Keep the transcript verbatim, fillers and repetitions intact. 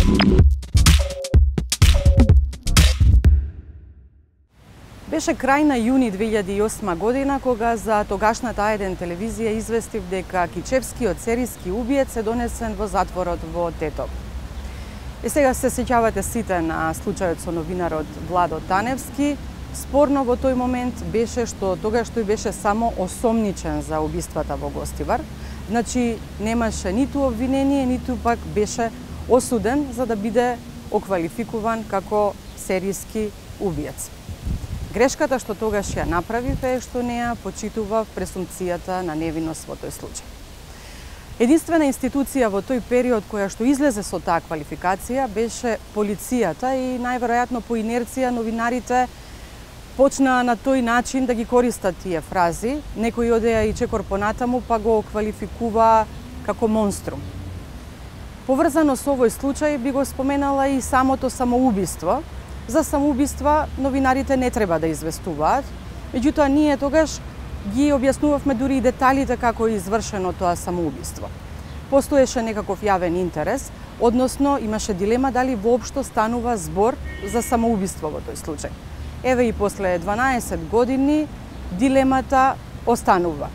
Беше крај на јуни две илјади и осма година кога за тогашната А еден телевизија известив дека кичевскиот серијски убиец е донесен во затворот во Тетово. И сега се сеќавате сите на случајот со новинарот Владо Таневски. Спорно во тој момент беше што тогаш тој беше само осомничен за убиствата во Гостивар. Значи немаше ниту обвинение, ниту пак беше осуден за да биде оквалификуван како серијски убиец. Грешката што тогаш ја направив е што не ја почитував презумпцијата на невиност во тој случај. Единствена институција во тој период која што излезе со таа квалификација беше полицијата и најверојатно по инерција новинарите почнаа на тој начин да ги користат тие фрази. Некој одеа и чекор понатаму па го квалификува како монструм. Поврзано со овој случај би го споменала и самото самоубиство. За самоубиства новинарите не треба да известуваат, меѓутоа ние тогаш ги објаснувавме дури и деталите како е извршено тоа самоубиство. Постоеше некаков јавен интерес, односно имаше дилема дали воопшто станува збор за самоубиство во тој случај. Еве и после дванаесет години дилемата останува.